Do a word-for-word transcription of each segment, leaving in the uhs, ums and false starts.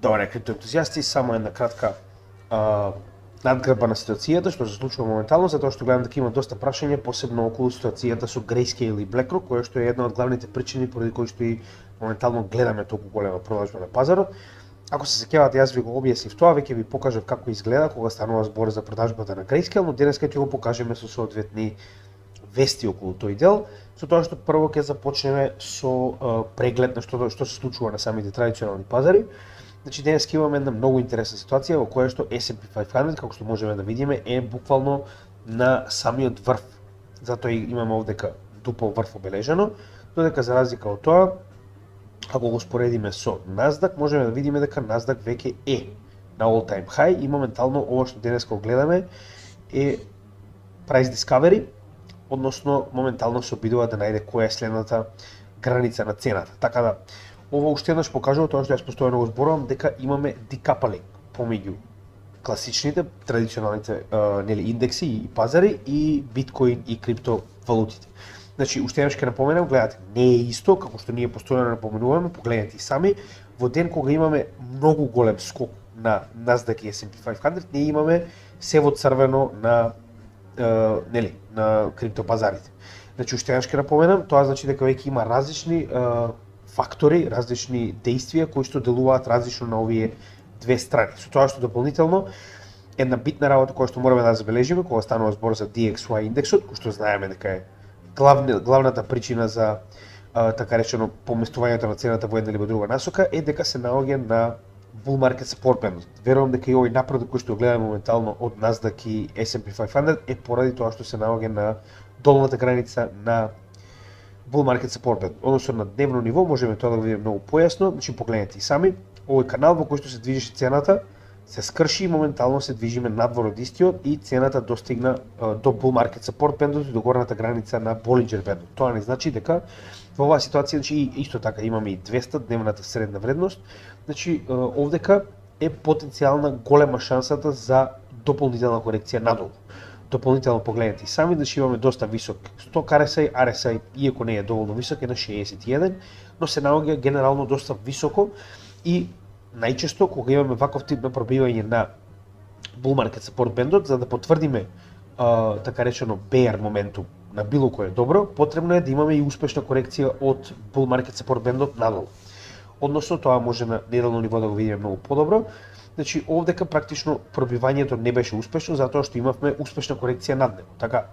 Добре, криптоентузијасти, само една кратка а, надгрба на ситуацијата што се случува моментално, затоа што гледам дека има доста прашања, посебно околу ситуацијата со Grayscale и BlackRock, која што е една од главните причини поради кои што и моментално гледаме толку голема продажба на пазарот. Ако се сеќавате, јас ви го објаснив тоа, веќе ви покажав како изгледа кога станува збор за продажбата на Grayscale, но денеска ќе го покажеме со соодветни вести околу тој дел, со тоа што прво ќе започнеме со а, преглед на што што се случува на самите традиционални пазари. Значи денес имаме една многу интересна ситуација во која што ес енд пи петстотини, како што можеме да видиме, е буквално на самиот врв. Затоа и имаме овдека дупол врв обележено, додека за разлика од тоа, ако го споредиме со Nasdaq, можеме да видиме дека Nasdaq веќе е на all time high и моментално ова што денес го гледаме е price discovery, односно моментално се обидува да најде која е следната граница на цената. Така да ова уште еднаш покажува тоа што јас постојано го зборувам, дека имаме декапалинг помеѓу класичните, традиционалните а, нели индекси и пазари и биткоин и криптовалутите. Значи, уште еднаш ќе напоменам, гледате, не е исто како што ние постојано напоменуваме, погледнете и сами, во ден кога имаме многу голем скок на Nasdaq и ес енд пи петстотини, ние имаме се во црвено на е, нели, на криптопазарите. Значи, уште еднаш ќе напоменам, тоа значи дека веќе има различни е, фактори, различни действија кои што делуваат различно на овие две страни. Со тоа што дополнително една битна работа која што мораме да забележиме кога станува збор за ди екс вај индексот, кој што знаеме дека е главни, главната причина за а, така речено поместувањето на цената во една или во друга насока е дека се наоѓа на bull market support band. Верувам дека и овој напредок кој што гледаме моментално од Nasdaq и ес енд пи петстотини е поради тоа што се наоѓа на долната граница на bull market support band. Односно на дневно ниво можеме тоа да го видиме многу појасно, значи погледнете и сами, овој канал во кој што се движеше цената се скрши и моментално се движиме надвор од истиот и цената достигна uh, до bull market support бендот и до горната граница на Bollinger бендот. Тоа не значи дека во оваа ситуација, значи исто така имаме и двеста дневната средна вредност, значи uh, овдека е потенцијална голема шансата за дополнителна корекција надолу. Дополнително погледнете и сами, значи имаме доста висок сток ар ес ај, ар ес ај иако не е доволно висок е на шеесет и еден, но се наоѓа генерално доста високо и најчесто кога имаме ваков тип на пробивање на bull market support бендот, за да потврдиме а, така речено bear моментум на било кое добро, потребно е да имаме и успешна корекција од bull market support бендот надолу. Односно тоа може на неделно ниво да го видиме многу подобро. Значи овдека практично пробивањето не беше успешно затоа што имавме успешна корекција над него. Така,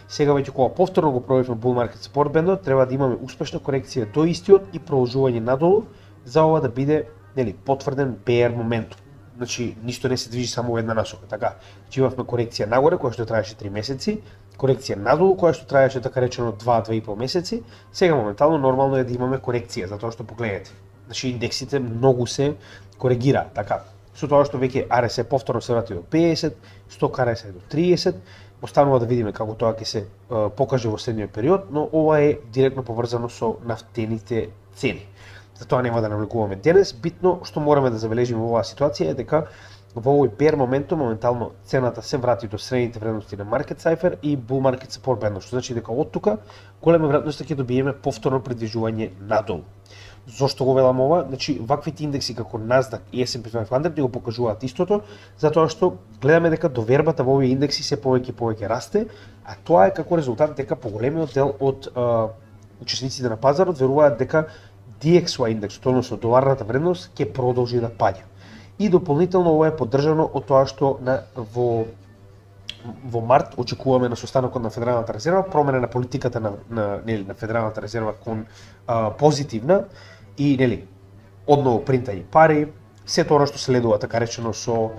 сега веќе кога повторно го пробивме bull market support бендот, треба да имаме успешна корекција до истиот и продолжување надолу за ова да биде нели потврден bear моментум. Значи ништо не се движи само во една насока, така. Значи имавме корекција нагоре која што траеше три месеци, корекција надолу која што траеше така речено два до две и пол месеци. Сега моментално нормално е да имаме корекција затоа што погледнете. Значи индексите многу се коригира, така. Со тоа што веќе ар ес ај повторно се врати до педесет, сток ар ес ај до триесет, останува да видиме како тоа ќе се е, покаже во следниот период, но ова е директно поврзано со нафтените цени. Затоа нема да навлекуваме денес. Битно што мораме да забележиме во оваа ситуација е дека во овој bear моментум моментално цената се врати до средните вредности на market cipher и bull market support band, што значи дека од тука голема веројатност ќе добиеме повторно придвижување надолу. Зошто го велам ова? Значи ваквите индекси како Nasdaq и ес енд пи петстотини ни го покажуваат истото, затоа што гледаме дека довербата во овие индекси се повеќе и повеќе расте, а тоа е како резултат дека поголемиот дел од а, учесниците на пазарот веруваат дека ди екс вај индексот, односно доларната вредност, ќе продолжи да паѓа. И дополнително ова е поддржано од тоа што на, во, во март очекуваме на состанокот на Федералната резерва промена на политиката на, на, нели, на Федералната резерва кон а, позитивна и нели, одново принтање пари, се тоа што следува така речено со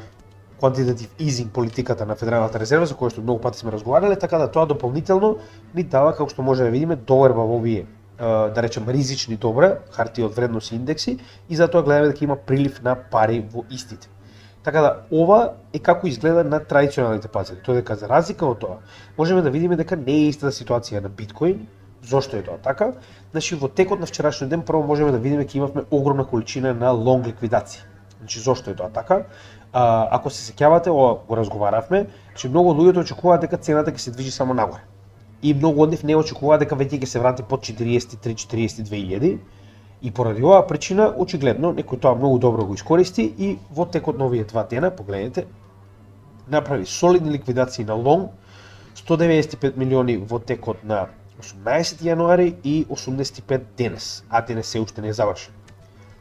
quantitative easing политиката на Федералната резерва, за која што многу пати сме разговарале, така да тоа дополнително ни дава, како што може да видиме, доверба во овие да речем ризични добра хартии од вредност и индекси и затоа гледаме дека има прилив на пари во истите. Така да ова е како изгледа на традиционалните пазари. Тоа дека за разлика од тоа можеме да видиме дека не е истата ситуација на биткоин. Зошто е тоа така? Значи во текот на вчерашниот ден прво можеме да видиме дека имавме огромна количина на лонг ликвидација. Значи зошто е тоа така? А, ако се сеќавате, ова го разговаравме, че многу луѓето очекуваат дека цената ќе се движи само нагоре. И многу од нив не очекуваат дека веќе ќе се врати под четириесет и три четириесет и две илјади И поради оваа причина, очигледно, некој тоа многу добро го искористи и во текот на овие два дена, погледнете, направи солидни ликвидации на лонг, сто деветдесет и пет милиони во текот на осумнаесети јануари и осумдесет и пет денес, а денес се уште не е завршен.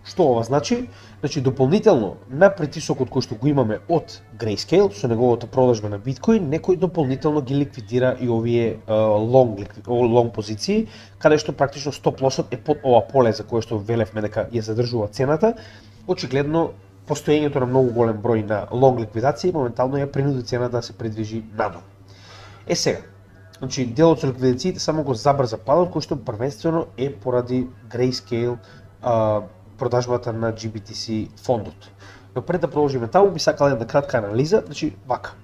Што ова значи? Значи дополнително на притисокот кој што го имаме од Grayscale со неговата продажба на биткоин, некој дополнително ги ликвидира и овие лонг лонг позиции, каде што практично стоп лосот е под ова поле за кое што велевме дека ја задржува цената. Очигледно постоењето на многу голем број на лонг ликвидации моментално ја принуди цената да се придвижи надолу. Е сега, значи делот со ликвидациите само го забрза падот кој што првенствено е поради Grayscale а, продажбата на G B T C фондот. Но пред да продолжиме таму, би сакал една кратка анализа, значи вака.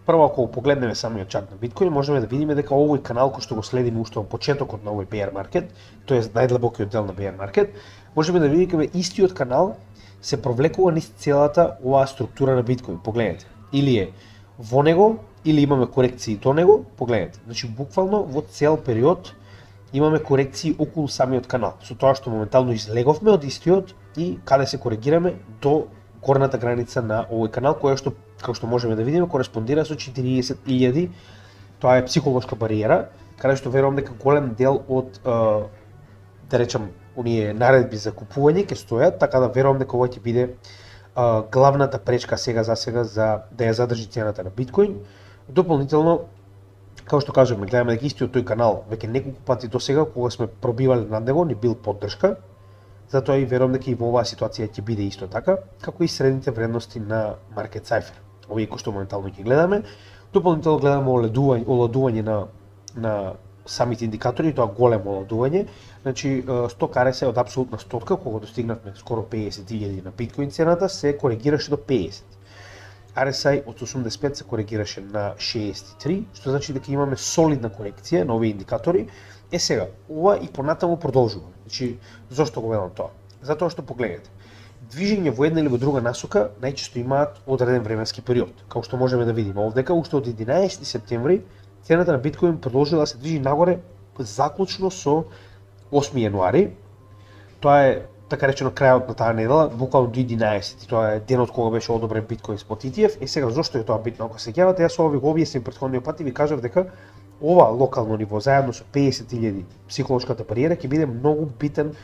Прво, ако погледнеме самиот чарт на биткоин, можеме да видиме дека овој канал кој што го следиме уште во почетокот на овој bear market, тоест најдлабокиот дел на bear market, можеме да видиме дека истиот канал се провлекува низ целата оваа структура на биткоин. Погледнете, или е во него, или имаме корекции до него, погледнете. Значи буквално во цел период имаме корекции околу самиот канал, со тоа што моментално излеговме од истиот и каде се коригираме до горната граница на овој канал, која што, како што можеме да видиме, кореспондира со четириесет илјади. Тоа е психолошка бариера, каде што верувам дека голем дел од, да речам, оние наредби за купување ќе стојат, така да верувам дека ова ќе биде главната пречка сега за сега за да ја задржи цената на биткоин. Дополнително, како што кажуваме, гледаме дека истиот тој канал веќе неколку пати до сега кога сме пробивале над него, ни бил поддршка. Затоа и верувам дека и во оваа ситуација ќе биде исто така, како и средните вредности на Market Cypher. Овие кои што моментално ќе гледаме. Дополнително гледаме оладување, оладување на на самите индикатори, тоа големо оладување. Значи сток ар ес ай од апсолутна стотка, кога достигнавме скоро пеесет илјади на биткоин цената, се коригираше до пеесет. ар ес ай од осумдесет и пет се коригираше на шеесет и три, што значи дека имаме солидна корекција на овие индикатори. Е сега, ова и понатаму продолжува. Значи, зошто го велам тоа? Затоа што погледнете, движење во една или во друга насока најчесто имаат одреден временски период. Како што можеме да видиме овдека, уште од единаесети септември цената на биткоин продолжила да се движи нагоре заклучно со осми јануари. Тоа е така речено крајот на таа недела, буквално до единаесети. Тоа е денот кога беше одобрен биткоин спот и ти еф. Е сега зошто е тоа битно? Ако се сеќавате, јас ова ви го објаснив претходниот пат и ви кажав дека ова локално ниво заедно со пеесет илјади психолошката бариера ќе биде многу битен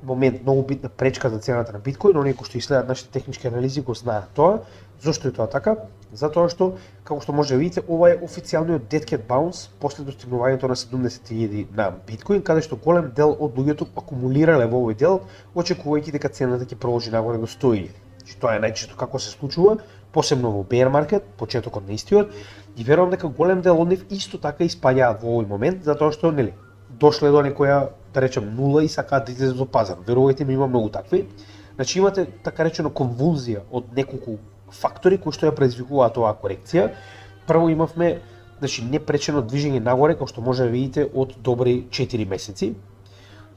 момент, многу битна пречка за цената на биткоин. Оние кои што иследат нашите технички анализи го знаат тоа. Зошто е тоа така? Затоа што, како што може да видите, ова е официјалниот dead cat bounce после достигнувањето на седумдесет илјади на биткоин, каде што голем дел од луѓето акумулирале во овој дел, очекувајќи дека цената ќе продолжи нагоре до сто илјади. Тоа е најчесто како се случува, посебно во bear market, почетокот на истиот, и верувам дека голем дел од нив исто така испаѓаат во овој момент, затоа што нели дошле до некоја, да речем, нула и сакаат да излезат до пазар. Верувајте ми, има многу такви. Значи имате така речено конвулзија од неколку фактори кои што ја предизвикуваат оваа корекција. Прво имавме, значи, непречено движење нагоре, како што може да видите, од добри четири месеци.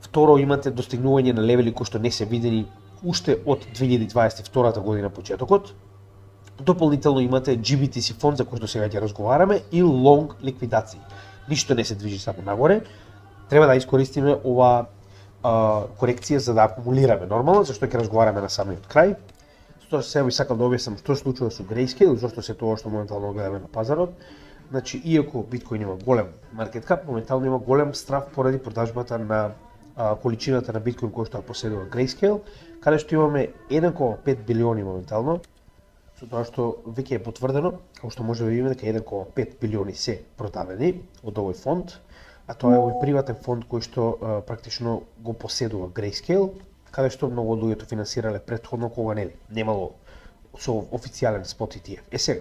Второ, имате достигнување на левели кои што не се видени уште од две илјади дваесет и втора година почетокот. Дополнително имате G B T C фонд за кој што сега ќе разговараме и лонг ликвидации. Ништо не се движи само нагоре. Треба да искористиме ова а, корекција за да акумулираме нормално, зашто ќе разговараме на самиот крај. Тоа сега би сакал да објаснам што се случува со Grayscale, зашто се тоа што моментално гледаме на пазарот. Значи, иако биткоин има голем маркет кап, моментално има голем страф поради продажбата на а, количината на биткоин кој што ја поседува Grayscale, каде што имаме еден кома пет билиони моментално, со тоа што веќе е потврдено, како што може да видиме дека еден кома пет билиони се продадени од овој фонд, а тоа е овој приватен фонд кој што а, практично го поседува Grayscale, каде што многу од луѓето финансирале претходно кога нели немало со официјален спот и ти еф. Е сега,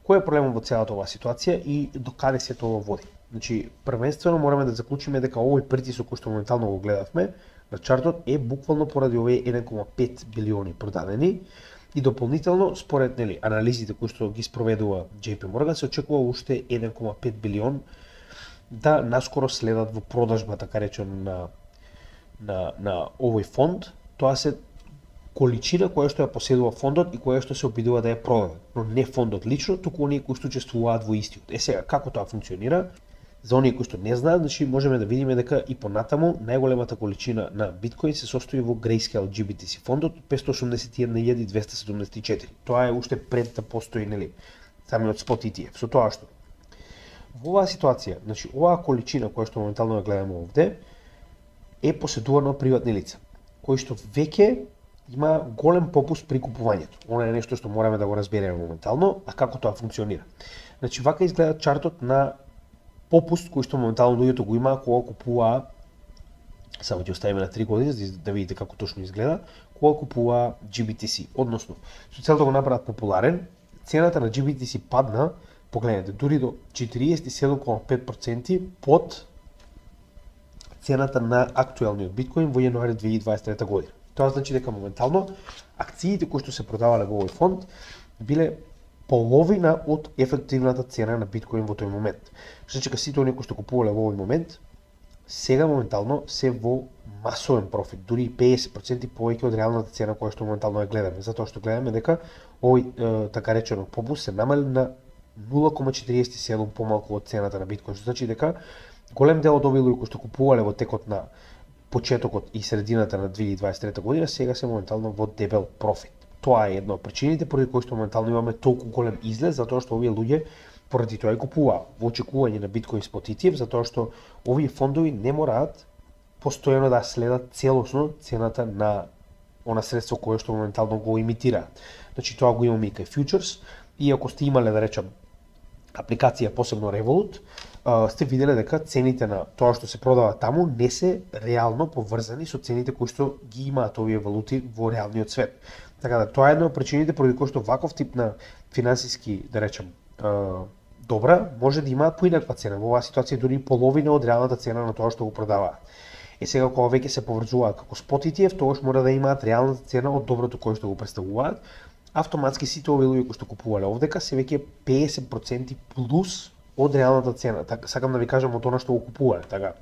кој е проблемот во целата оваа ситуација и до каде се тоа води? Значи, првенствено мораме да заклучиме дека овој притисок кој што моментално го гледавме на чартот е буквално поради овие еден кома пет билиони продадени и дополнително според нели анализите кои што ги спроведува J P Morgan се очекува уште еден кома пет билион да наскоро следат во продажба, така речено, на на на овој фонд. Тоа се количина која што ја поседува фондот и која што се обидува да ја продаде, но не фондот лично, туку оние кои што учествуваат во истиот. Е сега, како тоа функционира? За оние кои што не знаат, значи можеме да видиме дека и понатаму најголемата количина на биткоин се состои во Grayscale G B T C фондот петстотини осумдесет и една илјади двесте седумдесет и четири. Тоа е уште пред да постои, нели, самиот спот И Т Ф. Со тоа што во оваа ситуација, значи оваа количина која што моментално ја гледаме овде е поседувана од приватни лица, кои што веќе има голем попуст при купувањето. Она е нешто што мораме да го разбереме моментално, а како тоа функционира. Значи вака изгледа чартот на попуст кој што моментално луѓето го имаа кога купуваа, само ќе оставиме на три години за да видите како точно изгледа, кога купуваа G B T C. Односно, со цел да го направат популарен, цената на G B T C падна, погледнете, дури до четириесет и седум целу пет проценти под цената на актуелниот биткоин во јануари две илјади дваесет и трета година. Тоа значи дека моментално акциите кои што се продавале во овој фонд биле половина од ефективната цена на биткоин во тој момент. Што значи дека сите оние кои што купувале во овој момент сега моментално се во масовен профит, дури и петдесет проценти повеќе од реалната цена која што моментално ја гледаме, затоа што гледаме дека овој е, така речено попуст се намали на нула целу четириесет и седум помалку од цената на биткоин, што значи дека голем дел од овие луѓе кои што купувале во текот на почетокот и средината на две илјади дваесет и трета година сега се моментално во дебел профит. Тоа е една од причините поради кои што моментално имаме толку голем излез, затоа што овие луѓе поради тоа и купуваа во очекување на биткоин спот И Т Ф, затоа што овие фондови не мораат постојано да следат целосно цената на она средство кое што моментално го имитираат. Значи тоа го имаме и кај фьючерс, и ако сте имале да речам апликација посебно Revolut, сте виделе дека цените на тоа што се продава таму не се реално поврзани со цените кои што ги имаат овие валути во реалниот свет. Така да тоа е една од причините поради кои што ваков тип на финансиски, да речем, добра може да имаат поинаква цена. Во оваа ситуација дури половина од реалната цена на тоа што го продаваат. Е сега кога веќе се поврзуваат како спот И Т Ф, тогаш мора да имаат реалната цена од доброто кое што го представуваат. Автоматски сите овие луѓе кои што купувале овдека се веќе петдесет проценти плюс од реалната цена. Така сакам да ви кажам од она што го купувале, така.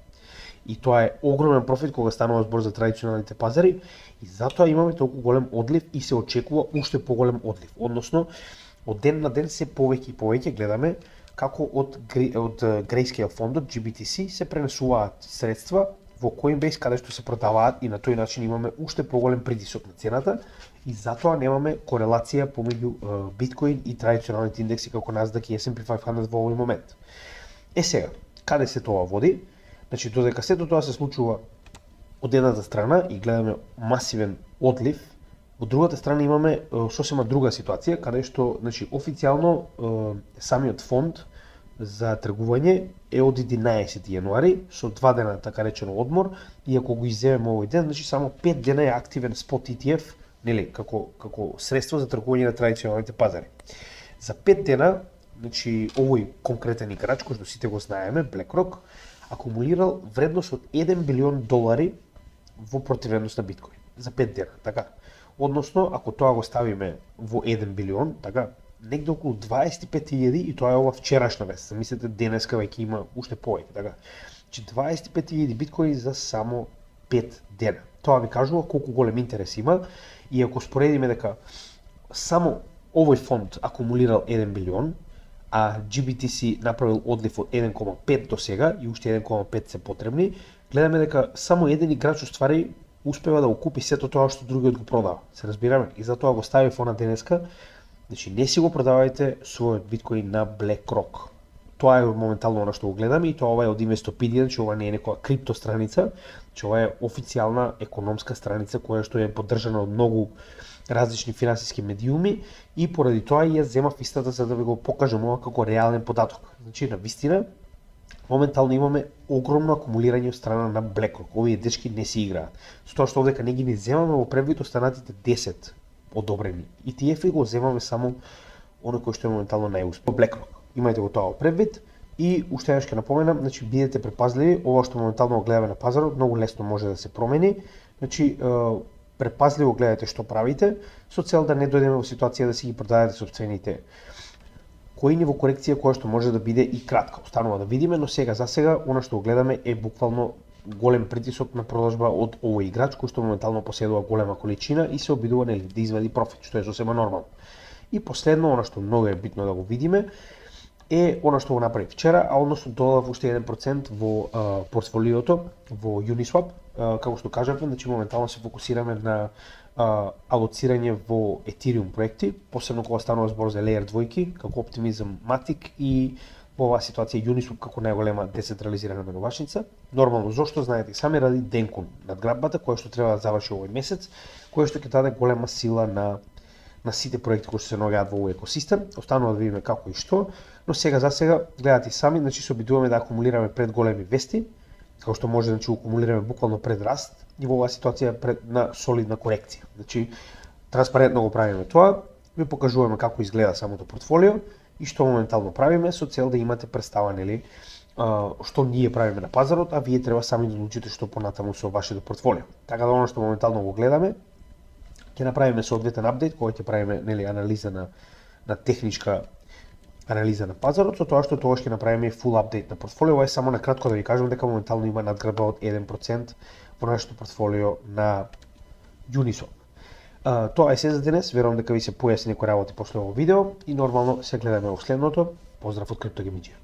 И тоа е огромен профит кога станува збор за традиционалните пазари и затоа имаме толку голем одлив и се очекува уште поголем одлив. Односно, од ден на ден се повеќе и повеќе гледаме како од од Grayscale фондот G B T C се пренесуваат средства во Coinbase каде што се продаваат и на тој начин имаме уште поголем притисок на цената и затоа немаме корелација помеѓу биткоин и традиционалните индекси како Nasdaq и S and P петстотини во овој момент. Е сега, каде се тоа води? Значи, додека сето тоа се случува од едната страна и гледаме масивен одлив, од другата страна имаме сосема друга ситуација, каде што, значи, официјално самиот фонд за тргување е од единаесети јануари со два дена така речено одмор и ако го изземеме овој ден, значи само пет дена е активен спот И Т Ф, нели, како како средство за тргување на традиционалните пазари. За пет дена, значи овој конкретен играч кој што сите го знаеме, BlackRock, акумулирал вредност од еден билион долари во противедност на биткоин за пет дена, така. Односно, ако тоа го ставиме во еден билион, така, негде околу дваесет и пет илјади и тоа е ова вчерашна вест. Мислете денеска веќе има уште повеќе, така. Че дваесет и пет илјади биткоини за само пет дена. Тоа ви кажува колку голем интерес има и ако споредиме дека само овој фонд акумулирал еден билион, а G B T C направил одлив од еден целу пет до сега и уште еден целу пет се потребни, гледаме дека само еден играч уствари успева да го купи сето тоа што другиот го продава. Се разбираме? И затоа го стави фона денеска. Значи не си го продавајте својот биткоин на BlackRock. Тоа е моментално она што го гледаме и тоа ова е од Investopedia, че ова не е некоја крипто страница, че ова е официјална економска страница која што е поддржана од многу различни финансиски медиуми и поради тоа ја земав истата за да ви го покажам ова како реален податок. Значи на вистина моментално имаме огромно акумулирање од страна на BlackRock. Овие дечки не си играат. Со тоа што овдека не ги не земаме во предвид останатите десет одобрени И Т Ф и го земаме само оној кој што е моментално најуспешен. BlackRock. Имајте го тоа во предвид и уште еднаш ќе напоменам, значи бидете предпазливи, ова што моментално го гледаме на пазарот многу лесно може да се промени. Значи предпазливо гледате што правите со цел да не дојдеме во ситуација да си ги продадете сопствените коини во корекција која што може да биде и кратка. Останува да видиме, но сега за сега она што го гледаме е буквално голем притисок на продажба од овој играч кој што моментално поседува голема количина и се обидува нели да извади профит, што е сосема нормално. И последно, она што многу е битно да го видиме, е она што го направи вчера, а односно додав уште еден процент во а, портфолиото во Uniswap. А, како што кажавме, значи моментално се фокусираме на а, алоцирање во Ethereum проекти, посебно кога станува збор за Layer двојки, како Optimism, Matic и во оваа ситуација Uniswap како најголема децентрализирана менувачница. Нормално, зошто знаете сами ради Денкун надграббата која што треба да заврши овој месец, која што ќе даде голема сила на на сите проекти кои се наоѓаат во овој екосистем. Останува да видиме како и што, но сега за сега гледате сами, значи се обидуваме да акумулираме пред големи вести, како што може значи акумулираме буквално пред раст и во оваа ситуација пред на солидна корекција. Значи транспарентно го правиме тоа, ви покажуваме како изгледа самото портфолио и што моментално правиме со цел да имате представа, нели, што ние правиме на пазарот, а вие треба сами да одлучите што понатаму со вашето портфолио. Така да оно што моментално го гледаме, ќе направиме соодветен апдейт кој ќе правиме, нели, анализа на на техничка анализа на пазарот, со тоа што тогаш ќе направиме фул апдейт на портфолио. Ова е само на кратко да ви кажам дека моментално има надгрба од еден процент во нашето портфолио на Uniswap. Uh, тоа е се за денес, верувам дека ви се појасни некои работи после овој видео и нормално се гледаме во следното. Поздрав од Криптогемиџија.